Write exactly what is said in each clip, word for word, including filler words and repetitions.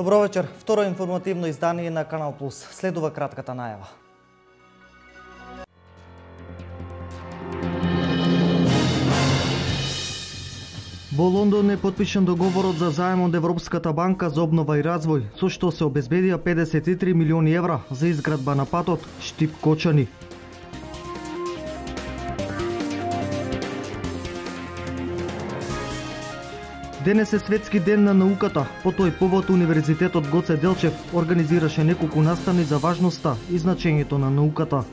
Добро вечер. Второ информативно издание на Канал Плюс. Следува кратката најава. Во Лондон е потпишан договорот за заем од Европската банка за обнова и развој, со што се обезбедија педесет и три милиони евра за изградба на патот Штип-Кочани. Денес е Светски ден на науката. По тој повод Универзитетот Гоце Делчев организираше неколку настани за важноста и значењето на науката.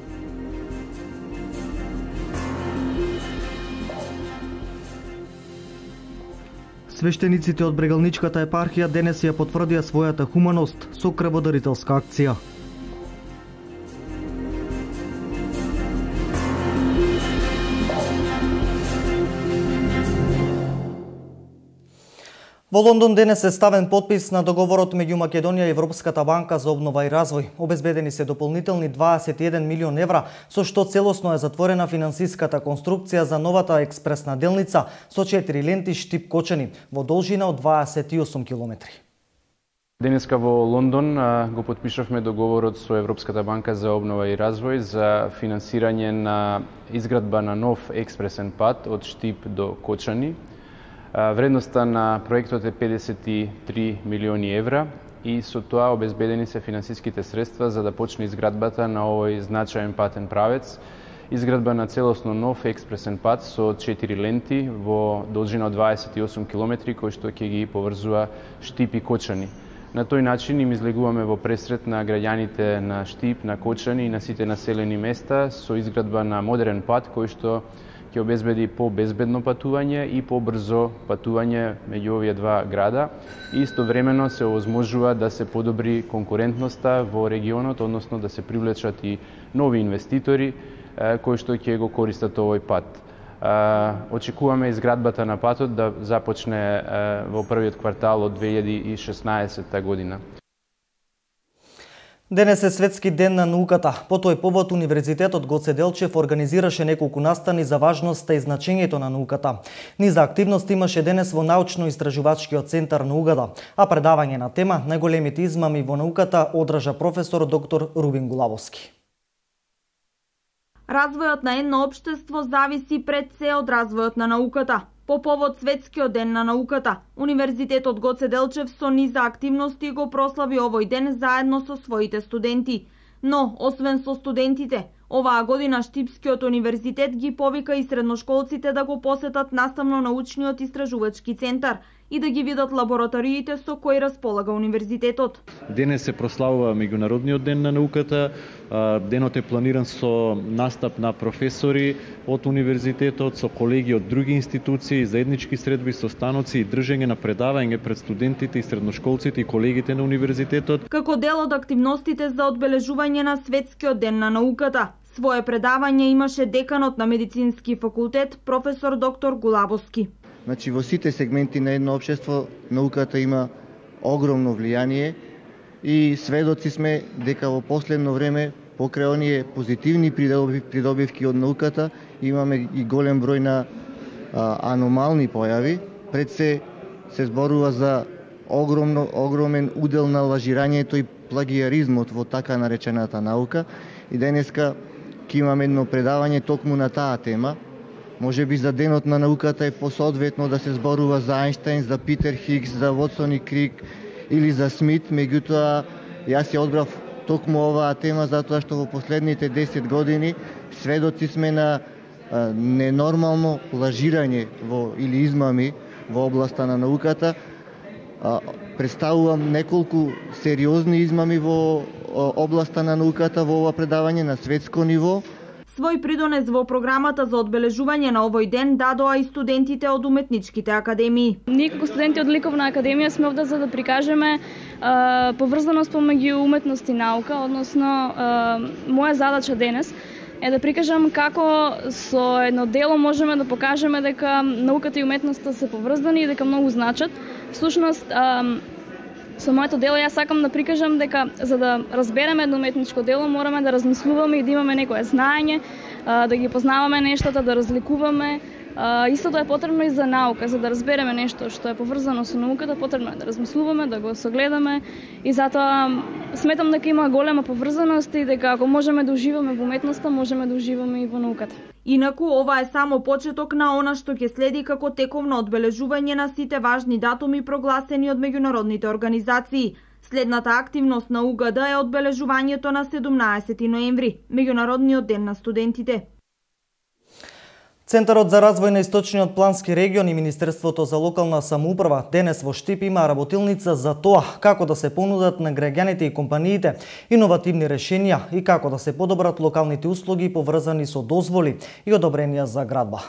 Свештениците од Брегалничката епархија денес ја потврдија својата хуманост со крводарителска акција. Во Лондон денес е ставен потпис на договорот меѓу Македонија и Европската банка за обнова и развој. Обезбедени се дополнителни дваесет и еден милион евра, со што целосно е затворена финансиската конструкција за новата експресна делница со четири ленти Штип-Кочани во должина од дваесет и осум километри. Денеска во Лондон го потпишавме договорот со Европската банка за обнова и развој за финансирање на изградба на нов експресен пат од Штип до Кочани. Вредноста на проектот е педесет и три милиони евра и со тоа обезбедени се финансиските средства за да почне изградбата на овој значаен патен правец, изградба на целосно нов експресен пат со четири ленти во должина од дваесет и осум километри кој што ќе ги поврзува Штип и Кочани. На тој начин им излегуваме во пресрет на граѓаните на Штип, на Кочани и на сите населени места со изградба на модерен пат кој што ќе обезбеди по-безбедно патување и по-брзо патување меѓу овие два града и истовремено се овозможува да се подобри конкурентноста во регионот, односно да се привлечат и нови инвеститори кои што ќе го користат овој пат. Очекуваме изградбата на патот да започне во првиот квартал од две илјади и шеснаесетта година. Денес е Светски ден на науката. По тој повод Универзитетот Гоце Делчев организираше неколку настани за важноста и значењето на науката. Низа активност имаше денес во научно-истражувачкиот центар на УГД, а предавање на тема најголемите измами во науката одржа професор доктор Рубин Гулавовски. Развојот на едно општество зависи пред се од развојот на науката. По повод Светскиот ден на науката, Универзитетот Гоце Делчев со низа активности го прослави овој ден заедно со своите студенти. Но, освен со студентите, оваа година Штипскиот универзитет ги повика и средношколците да го посетат наставно-научниот истражувачки центар и да ги видат лабораториите со кои располага универзитетот. Денес се прославува Меѓународниот ден на науката. Денот е планиран со настап на професори од универзитетот, со колеги од други институции, заеднички средби, состаноци и држење на предавање пред студентите и средношколците и колегите на универзитетот. Како дел од активностите за одбележување на Светскиот ден на науката, свое предавање имаше деканот на медицински факултет, професор доктор Гулавовски. Значи, во сите сегменти на едно општество науката има огромно влијание и сведоци сме дека во последно време покрај оние позитивни придобивки од науката имаме и голем број на а, аномални појави. Пред се се зборува за огромно огромен удел на лажирањето и плагиаризмот во така наречената наука и денеска ќе имаме едно предавање токму на таа тема. Може би за денот на науката е посоодветно да се зборува за Ајнштајн, за Питер Хигс, за Вотсон и Крик или за Смит, меѓутоа јас ја одбрав токму оваа тема затоа што во последните десет години сведоци сме на а, ненормално лажирање во или измами во областа на науката. А, представувам неколку сериозни измами во областа на науката во ова предавање на светско ниво. Свој придонес во програмата за одбележување на овој ден дадоа и студентите од уметничките академии. Ние како студенти од Ликовна академија сме овде за да прикажеме а, поврзаност помеѓу уметност и наука, односно а, моја задача денес е да прикажам како со едно дело можеме да покажеме дека науката и уметноста се поврзани и дека многу значат. Всушност, а, со моето дело јас сакам да прикажам дека за да разбереме едно уметничко дело мораме да размислуваме и да имаме некое знаење, да ги познаваме нештата, да разликуваме Истото е потребно и за наука, за да разбереме нешто што е поврзано со науката, потребно е да размислуваме, да го согледаме и затоа сметам дека има голема поврзаност и дека ако можеме да уживаме во уметноста, можеме да уживаме и во науката. Инаку, ова е само почеток на она што ќе следи како тековно одбележување на сите важни датуми прогласени од меѓународните организации. Следната активност на У Г Д е одбележувањето на седумнаесети ноември, меѓународниот ден на студентите. Центарот за развој на Источниот плански регион и Министерството за локална самоуправа денес во Штип има работилница за тоа како да се понудат на граѓаните и компаниите иновативни решенија и како да се подобрат локалните услуги поврзани со дозволи и одобренија за градба.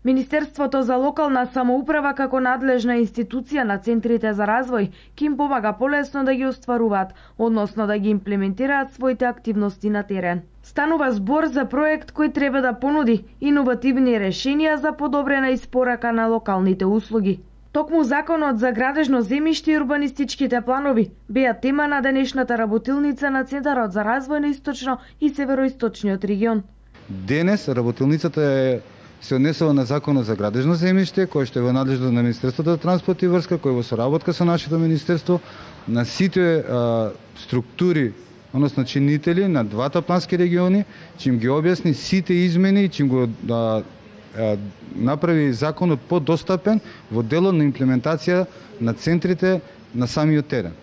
Министерството за локална самоуправа како надлежна институција на центрите за развој ќе им помага полесно да ги остваруваат, односно да ги имплементираат своите активности на терен. Станува збор за проект кој треба да понуди иновативни решенија за подобрена испорака на локалните услуги. Токму Законот за градежно земјиште и урбанистичките планови беа тема на денешната работилница на Центарот за развој на Источно и Североисточниот регион. Денес работилницата е се однесува на Законот за градежно земјиште, кој што е во надлежност на Министерството за транспорт и врска, кој во соработка со нашето министерство, на сите а, структури, односно чинители на двата плански региони, чим ги објасни сите измени и чим го а, а, направи законот подостапен во делот на имплементација на центрите на самиот терен.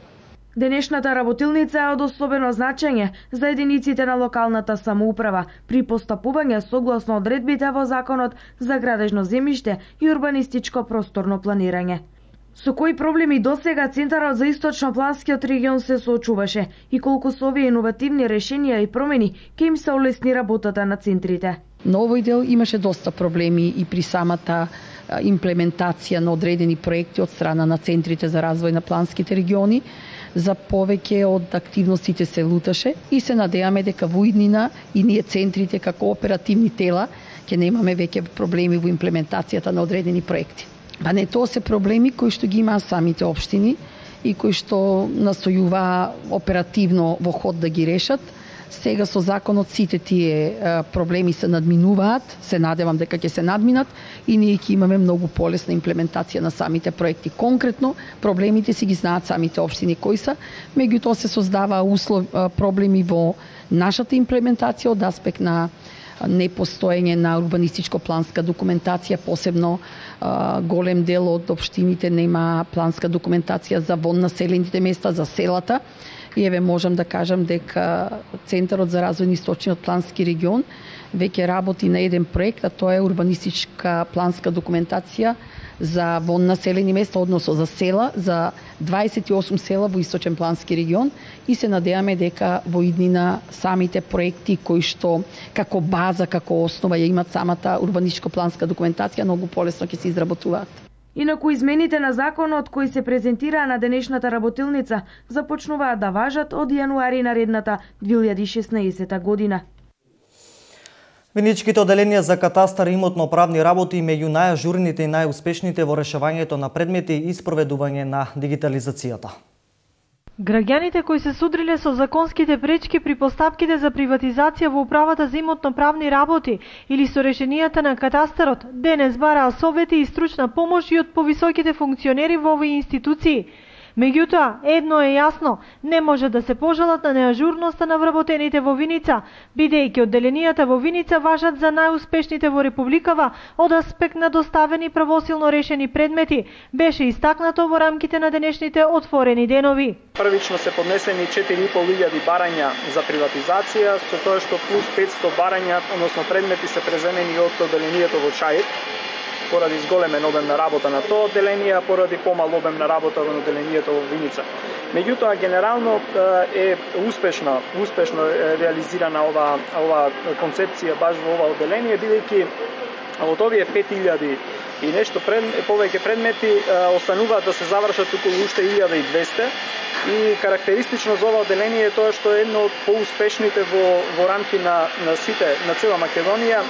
Денешната работилница е од особено значење за единиците на локалната самоуправа при постапување согласно одредбите во Законот за градежно земјиште и урбанистичко просторно планирање. Со кои проблеми досега Центарот за Источно-планскиот регион се соочуваше и колку со овие иновативни решенија и промени ќе им се олесни работата на центрите? На овој дел имаше доста проблеми и при самата имплементација на одредени проекти од страна на центрите за развој на планските региони. За повеќе од активностите се луташе и се надеваме дека во иднина и ние центрите како оперативни тела ќе немаме веќе проблеми во имплементацијата на одредени проекти. Па не, тоа се проблеми кои што ги имаат самите општини и кои што настојуваа оперативно во ход да ги решат. Сега со законот сите тие проблеми се надминуваат, се надевам дека ќе се надминат и ние ќе имаме многу полесна имплементација на самите проекти. Конкретно, проблемите си ги знаат самите општини кои се, меѓутоа се создава услов, проблеми во нашата имплементација од аспект на непостоење на урбанистичко-планска документација, посебно голем дел од општините нема планска документација за вон населените места, за селата. И еве можам да кажам дека Центарот за развој на Источниот плански регион веќе работи на еден проект, а тоа е урбанистичка планска документација за вон населени места, односно за села, за дваесет и осум села во Источен плански регион и се надеваме дека во иднина самите проекти кои што како база, како основа ја имат самата урбанистичко планска документација, многу полесно ќе се изработуваат. Инаку измените на законот кои се презентираа на денешната работилница започнуваат да важат од јануари наредната две илјади и шеснаесета година. Виничките оделенија за катастар и имотно-правни работи меѓу најажурните и најуспешните во решавањето на предмети и спроведување на дигитализацијата. Граѓаните кои се судриле со законските пречки при постапките за приватизација во управата за имотно-правни работи или со решенијата на катастарот, денес бараа совети и стручна помош и од повисоките функционери во овие институции. Меѓутоа, едно е јасно, не може да се пожалат на неажурноста на вработените во Виница, бидејќи одделенијата во Виница важат за најуспешните во Републикава од аспект на доставени правосилно решени предмети, беше истакнато во рамките на денешните отворени денови. Првично се поднесени четири и пол илјади барања за приватизација, со тоа што плюс петсто барања, односно предмети се преземени од одделението во Чаир, поради зголемен обем на работа на тоа одделение, а поради помал обем на работа во одделението во Виница. Меѓутоа, генерално е успешно, успешно реализирана ова, ова концепција баш во ова одделение, бидејќи од овие пет илјади и нешто пред, повеќе предмети остануваат да се завршат околу уште илјада и двесте и карактеристично за ова одделение е тоа што е едно од поуспешните во, во рамки на, на сите, на цела Македонија,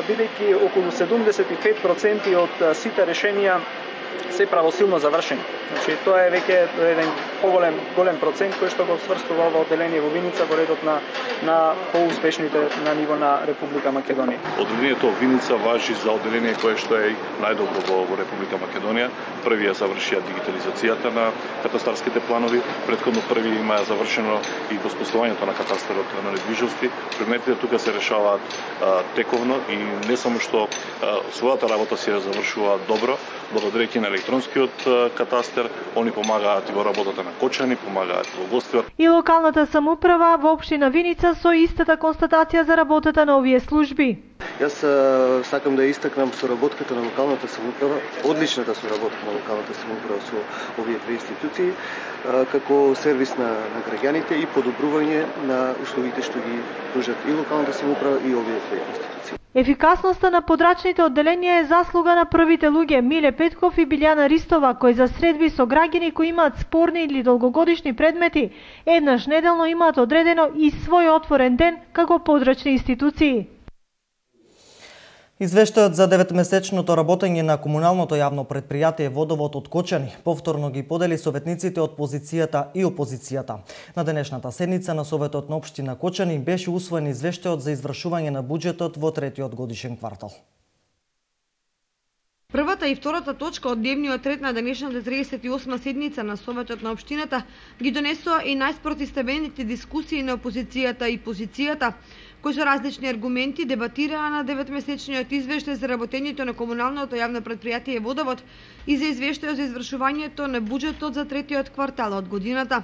бидејќи околу седумдесет и пет проценти од сите решенија се правосилно завршени. Значи тоа е веќе еден поголем голем процент кој што го сврстува ова одделение во Виница во редот на на поуспешните на ниво на Република Македонија. Одделението во Виница важи за одделение кое што е најдобро во, во Република Македонија. Први ја завршија дигитализацијата на катастарските планови, претходно први има завршено и воспоставувањето на катастарот на недвижности. Предметите тука се решаваат а, тековно и не само што а, својата работа се завршува добро, благодарејќи на електронскиот а, катастер, они помагаат и во работата на Кочани, помагаат во гостивар. И локалната самоуправа во општина Виница со истата констатација за работата на овие служби. Јас а, сакам да истакнам соработката на локалната самоуправа, одличната соработка на локалната самоуправа со овие две институции, а, како сервис на, на граѓаните и подобрување на услугите што ги пружат и локалната самоуправа и овие две институции. Ефикасноста на подрачните одделенија е заслуга на првите луѓе Миле Петков и Билјана Ристова, кои за средби со граѓани кои имаат спорни или долгогодишни предмети, еднаш неделно имаат одредено и свој отворен ден како подрачни институции. Извештајот за деветмесечното работење на комуналното јавно предпријатие Водовод од Кочани повторно ги подели советниците од позицијата и опозицијата. На денешната седница на Советот на општина Кочани беше усвоен извештајот за извршување на буџетот во третиот годишен квартал. Првата и втората точка од дневниот ред на денешната триесет и осма седница на Советот на општината ги донесоа и најспротивставените дискусии на опозицијата и позицијата, кои со различни аргументи дебатираа на деветмесечниот извештај за работењето на комуналното јавно предпријатие Водовод и за извештајот за извршувањето на буџетот за третиот квартал од годината.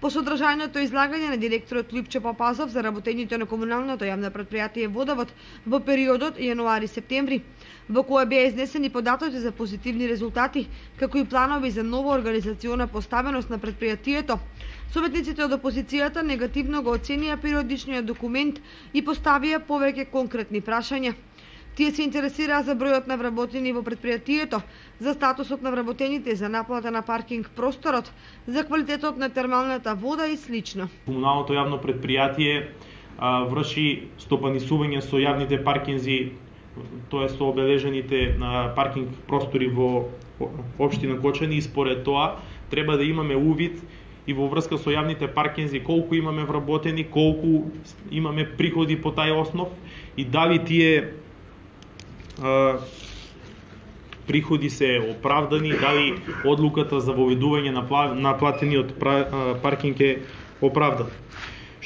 По содржајното излагање на директорот Липче Папазов за работењето на комуналното јавно предпријатие Водовод во периодот јануари-септември, во која беа изнесени податоци за позитивни резултати, како и планови за нова организациона поставеност на предпријатието, советниците од опозицијата негативно го оценија периодичниот документ и поставија повеќе конкретни прашања. Тие се интересираа за бројот на вработени во предпријатието, за статусот на вработените, за наплата на паркинг просторот, за квалитетот на термалната вода и слично. Комуналното јавно предпријатие а, врши стопанисување со јавните паркинзи, тоа е со обележените на паркинг простори во општина Кочани и според тоа треба да имаме увид и во врска со јавните паркинзи колку имаме вработени, колку имаме приходи по тај основ и дали тие а, приходи се оправдани, дали одлуката за воведување на платениот паркинг е оправдан.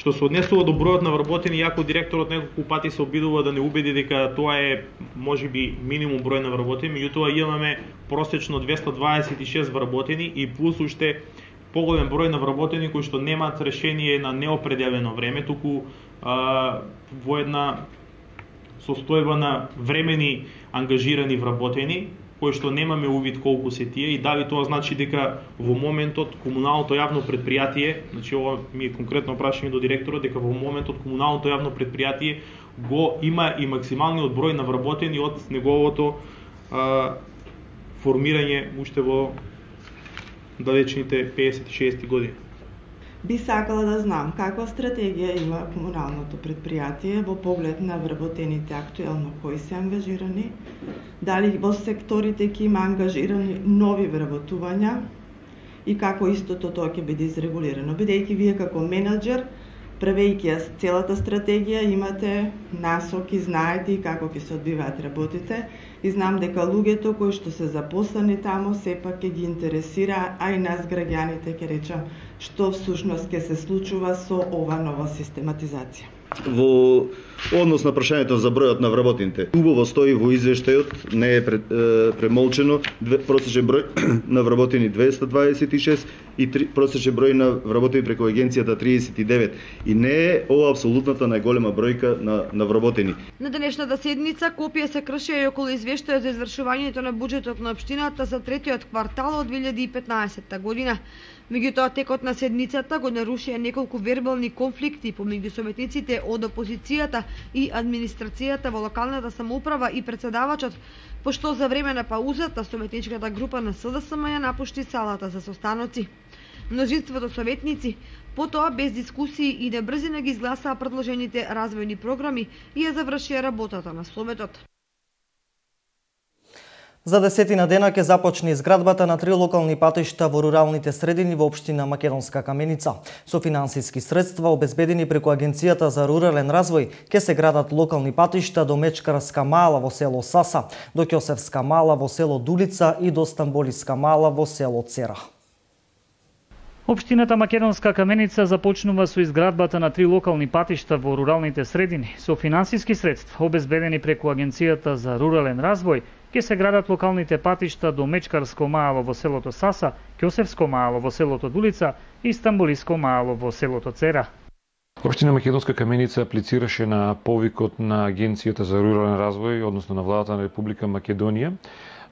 Што се однесува до бројот на вработени, јако директорот неколку пати се обидува да не убеди дека тоа е можеби минимум број на вработени, меѓутоа имаме просечно двесте дваесет и шест вработени и плюс уште поголем број на вработени кои што немаат решение на неопределено време, туку а, во една состојба на времени ангажирани вработени, кои што немаме увид колку се тие и дали тоа значи дека во моментот комуналното јавно предпријатие, значи ова ми е конкретно прашање до директорот, дека во моментот комуналното јавно предпријатие го има и максималниот број на вработени од неговото а, формирање уште во далечните песет и шести години. Би сакала да знам каква стратегија има комуналното предпријатие во поглед на вработените актуелно кои се ангажирани, дали во секторите ќе има ангажирани нови вработувања и како истото тоа ќе биде изрегулирано, бидејќи вие како менаџер, правејќи ја целата стратегија, имате насоки, знаете како ќе се одбиваат работите и знам дека луѓето кои што се запослени таму сепак ќе ги интересира, а и нас граѓаните ќе речам што всушност ќе се случува со ова нова систематизација. Во однос на прашањето за бројот на вработените, убаво стои во извештајот, не е премолчено, просечен број на вработени двесте дваесет и шест и просечен број на вработени преку агенцијата триесет и девет. И не е ова апсолутната најголема бројка на, на вработени. На денешната седница копија се кршија и околу извештајот за извршувањето на буџетот на општината за третиот квартал од две илјади и петнаесетта година. Меѓутоа, текот на седницата го нарушија неколку вербални конфликти помеѓу советниците од опозицијата и администрацијата во локалната самоуправа и председавачот, пошто за време на паузата советничката група на С Д С М ја напушти салата за состаноци. Множинството советници потоа без дискусии и на брзина ги изгласаа предложените развојни програми и ја завршија работата на Советот. За десетина дена ќе започне изградбата на три локални патишта во руралните средини во општина Македонска Каменица. Со финансиски средства обезбедени преку Агенцијата за рурален развој ќе се градат локални патишта до Мечкарска мала во село Саса, до Ќосевска мала во село Дулица и до Стамболиска мала во село Цера. Општината Македонска Каменица започнува со изградбата на три локални патишта во руралните средини. Со финансиски средства обезбедени преку Агенцијата за рурален развој ќе се градат локалните патишта до Мечкарско мало во селото Саса, Ќосевско мало во селото Дулица и Стамболиско мало во селото Цера. Општина Македонска Каменица аплицираше на повикот на Агенцијата за рурален развој, односно на владата на Република Македонија,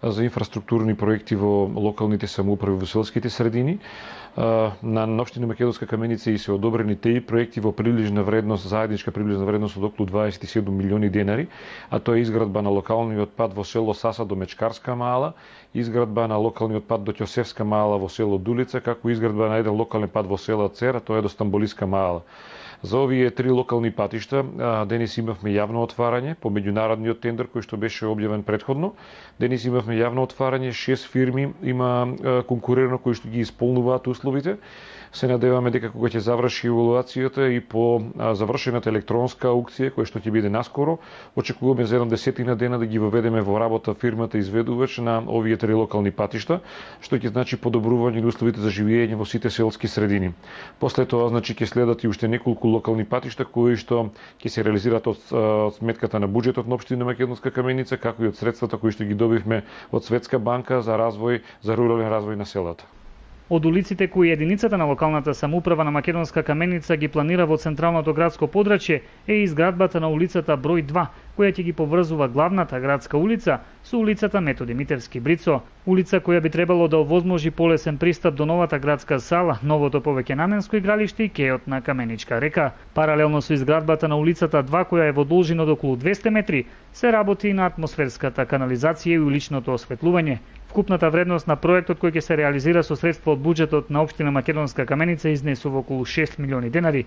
за инфраструктурни проекти во локалните самоуправи во селските средини. На општина Македонска Каменица и се одобрени теи проекти во приближна вредност, заедничка приближна вредност од околу дваесет и седум милиони денари, а тоа е изградба на локалниот пат во село Саса до Мечкарска мала, изградба на локалниот пат до Ќосевска мала во село Дулица, како изградба на еден локален пат во село Цера, тоа е до Стамболиска мала. За овие три локални патишта денес имавме јавно отварање по меѓународниот тендер кој што беше објавен претходно. Денес имавме јавно отварање, шест фирми има конкурирано кои што ги исполнуваат условите. Се надеваме дека кога ќе заврши евалуацијата и по завршената електронска аукција која што ќе биде наскоро, очекуваме за еден десетина дена да ги воведеме во работа фирмата изведувач на овие три локални патишта, што ќе значи подобрување на условите за живење во сите селски средини. После тоа значи ќе следат и уште неколку локални патишта кои што ќе се реализираат од, од сметката на буџетот на општина Македонска Каменица, како и од средствата кои што ги добивме од Светска банка за развој, за рурален развој на селата. Од улиците кои единицата на локалната самоуправа на Македонска Каменица ги планира во централното градско подрачје е изградбата на улицата број два, која ќе ги поврзува главната градска улица со улицата Методи Митевски Брицо, улица која би требало да овозможи полесен пристап до новата градска сала, новото повеќенаменско игралиште и кејот на Каменичка река. Паралелно со изградбата на улицата два, која е во должина од околу двесте метри, се работи и на атмосферската канализација и уличното осветлување. Вкупната вредност на проектот кој ќе се реализира со средства од буџетот на општина Македонска Каменица изнесува околу шест милиони денари.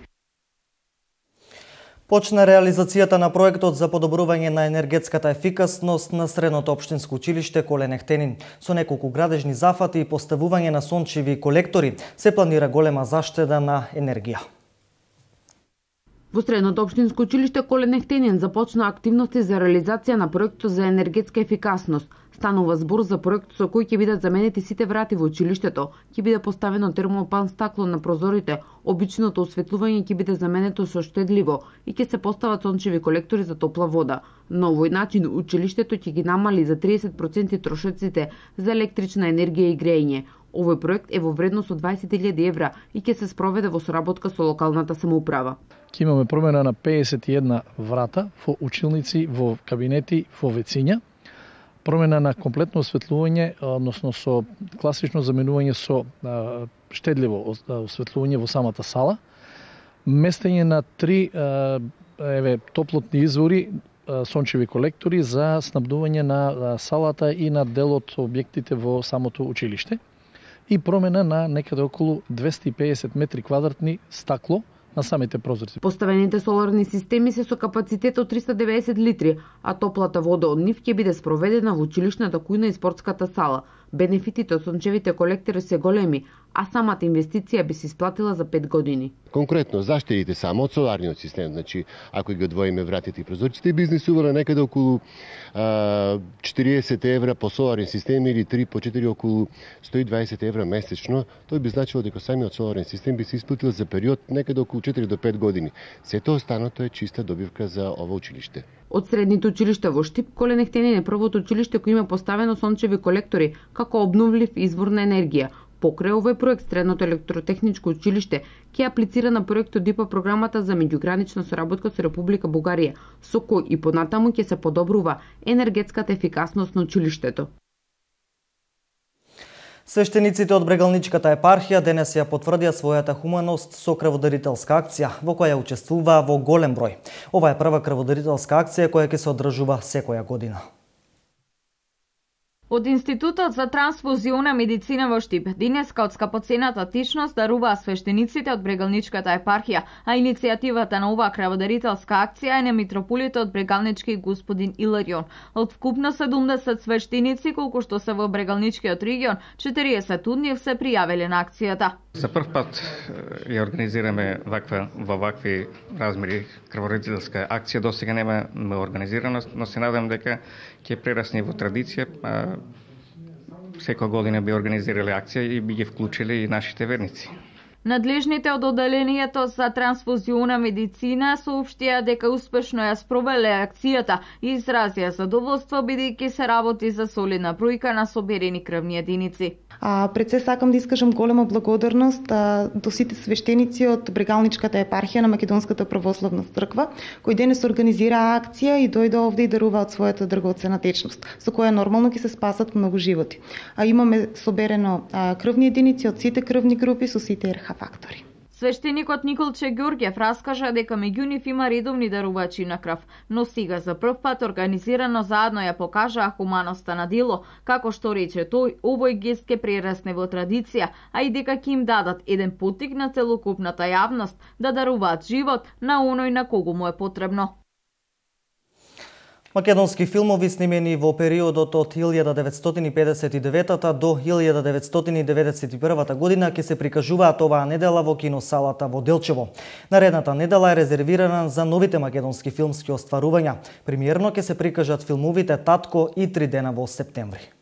Почна реализацијата на проектот за подобрување на енергетската ефикасност на Средното општинско училиште Колен Ехтенин. Со неколку градежни зафати и поставување на сончеви колектори се планира голема заштеда на енергија. Во Средното општинско училиште Колен Ехтенин започна активности за реализација на проектот за енергетска ефикасност. Станува збор за проект со кој ќе бидат заменети сите врати во училиштето, ќе биде поставено термопан стакло на прозорите, обичното осветлување ќе биде заменето со штедливо и ќе се постават сончеви колектори за топла вода. На овој начин училиштето ќе ги намали за триесет проценти трошоците за електрична енергија и грејење. Овој проект е во вредност од дваесет илјади евра и ќе се спроведе во соработка со локалната самоуправа. Ќе имаме промена на педесет и една врата во училници, во кабинети, во вециња, промена на комплетно осветлување, односно со класично заменување со а, штедливо осветлување во самата сала, местење на три а, еве топлотни извори, а, сончеви колектори за снабдување на а, салата и на дел од објектите во самото училиште и промена на некаде околу двесте и педесет метри квадратни стакло на самите прозорци. Поставените соларни системи се со капацитет од триста и деветдесет литри, а топлата вода од нив ќе биде спроведена во училишната кујна и спортската сала. Бенефитите од сончевите колектори се големи, а самата инвестиција би се исплатила за пет години. Конкретно, заштедите само од соларниот систем, значи ако ги одвоиме вратите и прозорците, би изнесувале некаде околу а, четириесет евра по соларен систем или три по четири околу сто и дваесет евра месечно. Тој би значило дека самиот соларен систем би се исплатил за период некаде околу четири до пет години. Сето останато е чиста добивка за ова училиште. Од средните училишта во Штип, Колен Ехтенин е првото училиште кој има поставено сончеви колектори како обновлив извор на енергија. Покрај овој проект, Средното електротехничко училиште ќе аплицира на проектот ДИПА програмата за меѓугранична соработка со Република Бугарија, со кој и понатаму ќе се подобрува енергетската ефикасност на училиштето. Свештениците од Брегалничката епархија денес ја потврдија својата хуманост со крводарителска акција, во која учествуваа во голем број. Ова е прва крводарителска акција која ќе се одржува секоја година. Од Институтот за трансфузиона медицина во Штип денеска од скапоцената тичност даруваа свештениците од Брегалничката епархија, а иницијативата на оваа крводарителска акција е на митрополитот Брегалнички господин Иларион. Од вкупно седумдесет свештеници колку што се во Брегалничкиот регион, четириесет од нив се пријавиле на акцијата. За прв пат ја организираме ваква во вакви размери крводарителска акција. Досега нема организираност, но се надам дека ќе прерасне во традиција. Секоја година би организирале акција и би ги вклучиле и нашите верници. Надлежните од одделението за трансфузиона медицина соопштија дека успешно ја спровеле акцијата и изразија задоволство бидејќи се работи за солидна бројка на соберени крвни единици. А, пред се сакам да искажам голема благодарност а, до сите свештеници од Брегалничката епархија на Македонската православна црква, кои денес организираа акција и дојде овде и даруваат својата драгоцена течност, со која нормално ќе се спасат многу животи. А имаме соберено а, крвни единици од сите крвни групи со сите ер ха фактори. Свештеникот Николче Ѓорѓев раскажа дека меѓу нив има редовни дарувачи на крв, но сега за прв пат организирано заедно ја покажаа хуманоста на дело, како што рече тој, овој гест ќе прерасне во традиција, а и дека ќе им дадат еден поттик на целокупната јавност да даруваат живот на оној на кого му е потребно. Македонски филмови снимени во периодот од илјада деветстотини педесет и девета до илјада деветстотини деветдесет и прва година ќе се прикажуваат оваа недела во киносалата во Делчево. Наредната недела е резервирана за новите македонски филмски остварувања. Премиерно ќе се прикажат филмовите Татко и Три дена во септември.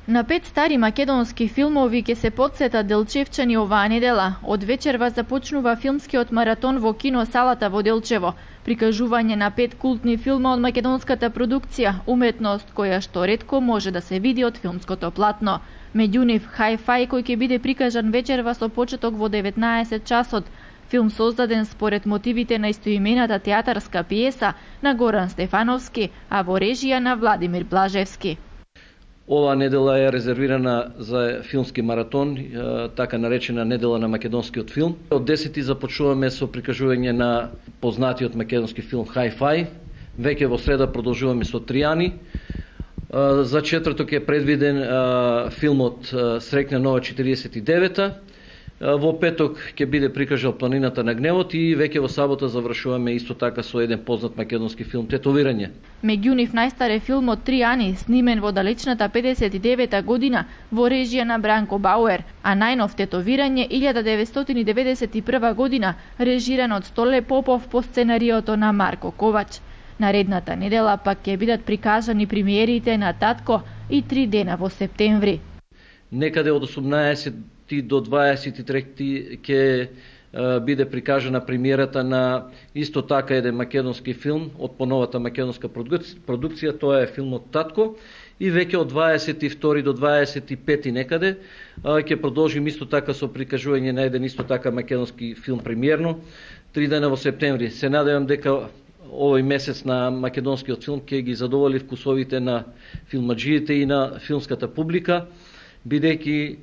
На пет стари македонски филмови ќе се потсетат делчевчани оваа недела. Од вечерва започнува филмскиот маратон во киносалата во Делчево. Прикажување на пет култни филма од македонската продукција, уметност која што ретко може да се види од филмското платно. Меѓу нив Hi-Fi кој ќе биде прикажан вечерва со почеток во деветнаесет часот. Филм создаден според мотивите на истоимената театарска пиеса на Горан Стефановски, а во режија на Владимир Блажевски. Ова недела е резервирана за филмски маратон, така наречена недела на македонскиот филм. Од десети започнуваме со прикажување на познатиот македонски филм Hi-Fi. Веќе во среда продолжуваме со Тријани. За четврток е предвиден филмот Среќна нова четириесет и девета. Во петок ќе биде прикажал Планината на гневот и веќе во сабота завршуваме исто така со еден познат македонски филм Тетовирање. Меѓу нив најстар е филмот Тријани, снимен во далечната педесет и девета година во режија на Бранко Бауер, а најнов Тетовирање илјада деветстотини деветдесет и прва година, режиран од Столе Попов по сценариото на Марко Ковач. Наредната недела пак ќе бидат прикажани премиерите на Татко и Три дена во септември. Некаде од осумнаесет до дваесет и трети ќе биде прикажана премиерата на исто така еден македонски филм од поновата македонска продукција, тоа е филмот Татко, и веќе од дваесет и втори до дваесет и пети некаде ќе продолжим исто така со прикажување на еден исто така македонски филм премиерно, Три дена во септември. Се надевам дека овој месец на македонскиот филм ќе ги задоволи вкусовите на филмаджиите и на филмската публика, бидејќи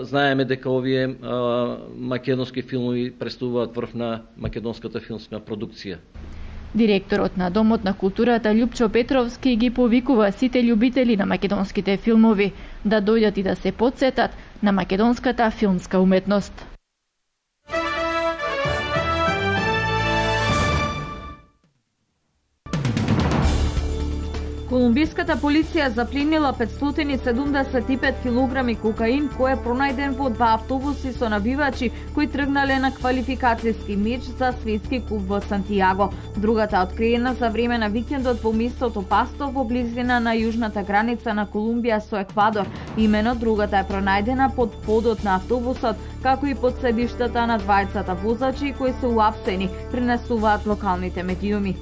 знаеме дека овие а, македонски филмови представуваат врв на македонската филмска продукција. Директорот на Домот на културата Љупчо Петровски ги повикува сите љубители на македонските филмови да дојдат и да се потсетат на македонската филмска уметност. Колумбиската полиција запленила петстотини седумдесет и пет килограми кокаин кој е пронајден во два автобуси со набивачи кои тргнале на квалификацијски меч за светски куп во Сантијаго. Другата откриена за време на викендот во местото Пасто во близина на јужната граница на Колумбија со Еквадор. Имено другата е пронајдена под подот на автобусот, како и под седиштата на двајцата возачи кои се уапсени, пренесуваат локалните медиуми.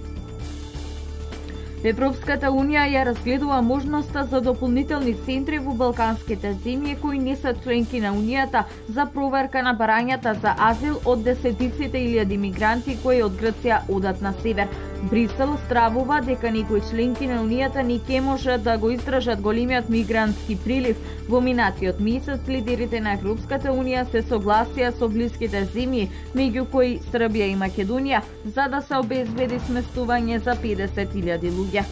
Европската Унија ја разгледува можноста за дополнителни центри во балканските земји кои не се членки на Унијата за проверка на барањата за азил од десетиците илјади мигранти кои од Грција одат на север. Брисел стравува дека некои членки на Унијата не ќе можат да го издржат големиот мигрантски прилив. Во минатиот месец лидерите на Европската Унија се согласија со блиските земји, меѓу кои Србија и Македонија, за да се обезбеди сместување за педесет илјади луѓе.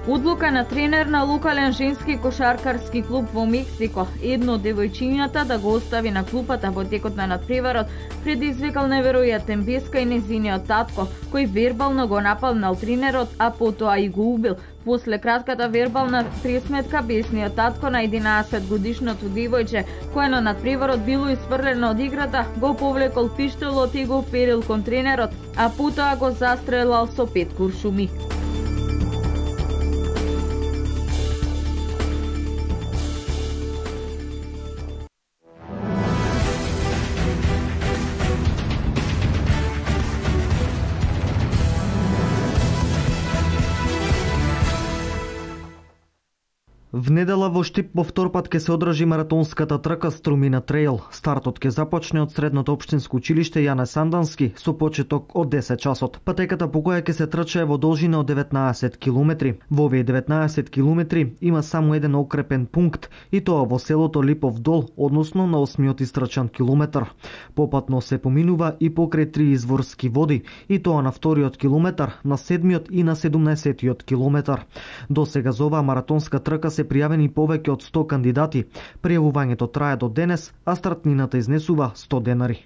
Одлука на тренер на локален женски кошаркарски клуб во Мексико, едно од девојчињата да го остави на клупата во текот на надпреварот, предизвикал неверојатен беска и незиниот татко, кој вербално го нападнал тренерот, а потоа и го убил. После кратката вербална пресметка, бесниот татко на единаесет годишното девојче, кое на надпреварот било испрлено од играта, го повлекол пиштолот и го вперил кон тренерот, а потоа го застрелал со пет куршуми. В недела во Штип по втор пат ќе се одржи маратонската трка Струмина Трейл. Стартот ќе започне од средното општинско училиште Јане Сандански со почеток од десет часот. Патеката по која ќе се трчае во должина од деветнаесет километри. Во овие деветнаесет километри има само еден окрепен пункт и тоа во селото Липов Дол, односно на осмиот истрчан километар. Попатно се поминува и покрај три изворски води, и тоа на вториот километар, на седмиот и на седумнаесеттиот километар. До сега за оваа маратонска трка се пријавени повеќе од сто кандидати. Пријавувањето трае до денес, а стартнината изнесува сто денари.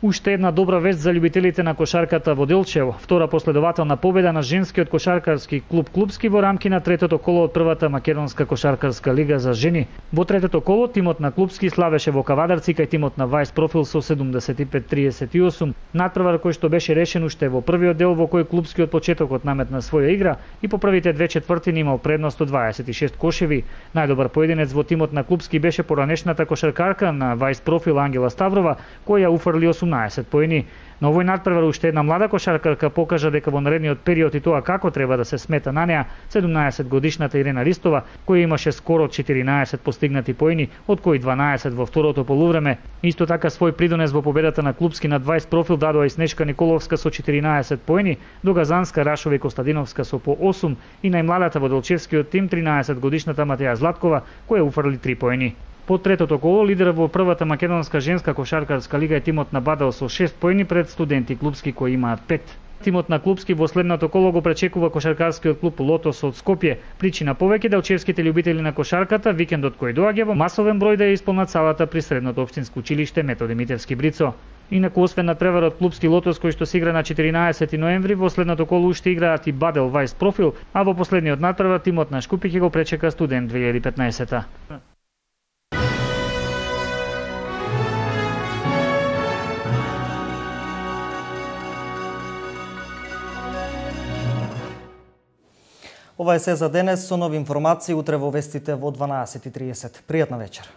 Уште една добра вест за љубителите на кошарката во Делчево. Втора последователна победа на женскиот кошаркарски клуб Клубски во рамки на третото коло од првата македонска кошаркарска лига за жени. Во третото коло тимот на Клубски славеше во Кавадарци кај тимот на Вајс Профил со седумдесет и пет триесет и осум. Надпревар кој што беше решен уште во првиот дел во кој Клубски од почетокот наметна своја игра и по првите две четвртини имал предност од дваесет и шест кошеви. Најдобар поединец во тимот на Клубски беше поранешната кошаркарка на Вајс Профил Ангела Ставрова, која уфрли осумнаесет поени. На овој надпревар уште една млада кошаркарка покажа дека во наредниот период и тоа како треба да се смета на неа, седумнаесет годишната Ирена Ристова, која имаше скоро четиринаесет постигнати поени, од кои дванаесет во второто полувреме. Исто така свој придонес во победата на Клубски над Вајс Профил дадоа и Снежка Николовска со четиринаесет поени, до Газанска, Рашова и Костадиновска со по осум и најмладата во Делчевскиот тим тринаесет годишната Матеја Златкова, која уфрли три поени. По третото коло лидер во првата македонска женска кошаркарска лига е тимот на Бадел со шест поени пред Студенти Клубски кои имаат пет. Тимот на Клубски во следното коло го пречекува кошаркарскиот клуб Лотос од Скопје. Причина повеќе делчевските љубители на кошарката викендот кој доаѓа во масовен број да ја исполнат салата при средното општинско училиште Методи Митевски Брицо. Инаку освен надпреварот Клубски Лотос кој што се игра на четиринаесети ноември, во следното коло уште играат и Бадел Вајс Профил, а во последниот надпревар тимот на Шкупи ќе го пречека Студент две илјади и петнаесета. Ова е се за денес, со нови информации утре во вестите во дванаесет и тридесет. Пријатна вечер.